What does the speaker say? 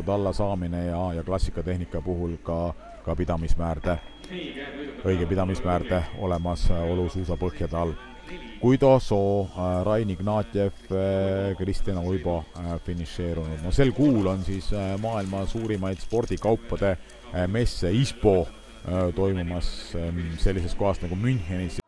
põhjad alla saamine ja klassikatehnika puhul ka pidamismäärde, õige pidamismäärde olemas olusuusapõhjade all. Guido Soo, Rain Ignatjev, Kristjan Uibo finišeerunud. No sel kuul on siis maailma suurimaid spordikaupade messe ISPO toimumas sellises kohas nagu Münchenis.